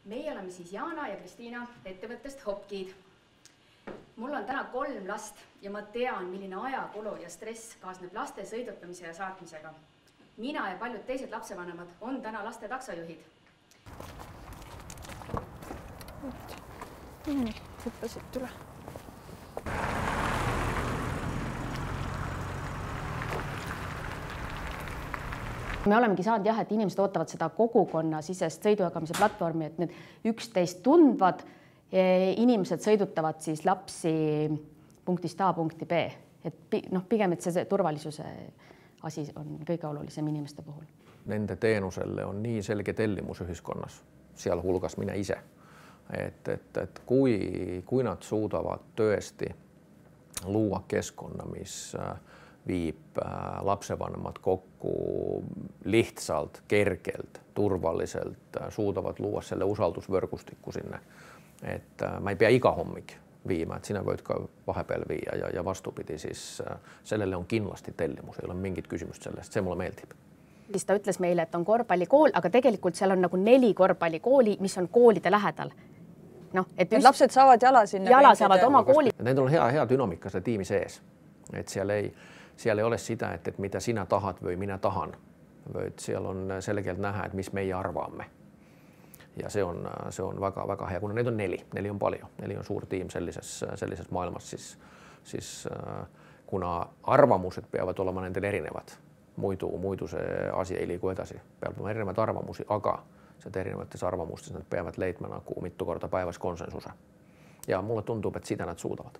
Meie oleme siis Jaana ja Kristiina ettevõttest Hopkid. Mul on täna 3 last ja ma tean, milline ajakulu ja stress kaasneb laste sõidutamise ja saatmisega. Mina ja paljud teised lapsevanemad on täna laste taksojuhid. Hüppasid üle. Me olemegi saanud jah, et inimesed ootavad seda kogukonnasisest sõidujagamise platvormi, et need üksteist tundvad inimesed sõidutavad siis lapsi punktist A punkti B. Et pigem, et see turvalisuse asi on kõige olulisem inimeste puhul. Nende teenuselle on nii selge tellimus ühiskonnas, sealhulgas mina ise. Et kui nad suudavad tõesti luua keskkonna, mis viib lapsevanemad kokku lihtsalt, kergelt, turvaliselt, suudavad luua selle usaldusvõrgustikku sinna. Et ma ei pea iga hommik viima, et sina võid ka vahepeal viia ja vastupidi, siis sellele on kindlasti tellimus, ei ole mingit küsimust sellest, see mulle meeldib. Siis ta ütles meile, et on korvpallikool, aga tegelikult seal on nagu 4 korvpallikooli, mis on koolide lähedal. Et lapsed saavad jala sinna. Jala saavad oma kooli. Nendel on hea dünaamika selle tiimi sees, et seal ei ole sitä, et mida sina tahad või mina tahan, vaid seal on selgelt näha, et mis meie arvame. Ja see on väga hea, kuna neid on 4 on palju, 4 on suur tiim sellises maailmas, siis kuna arvamused peavad olema nendel erinevad, muidu see asi ei liigu edasi, peab olema erinevad arvamusi, aga seda erinevates arvamustes nad peavad leidma nagu mitu korda päevas konsensuse. Ja mulle tundub, et seda nad suudavad.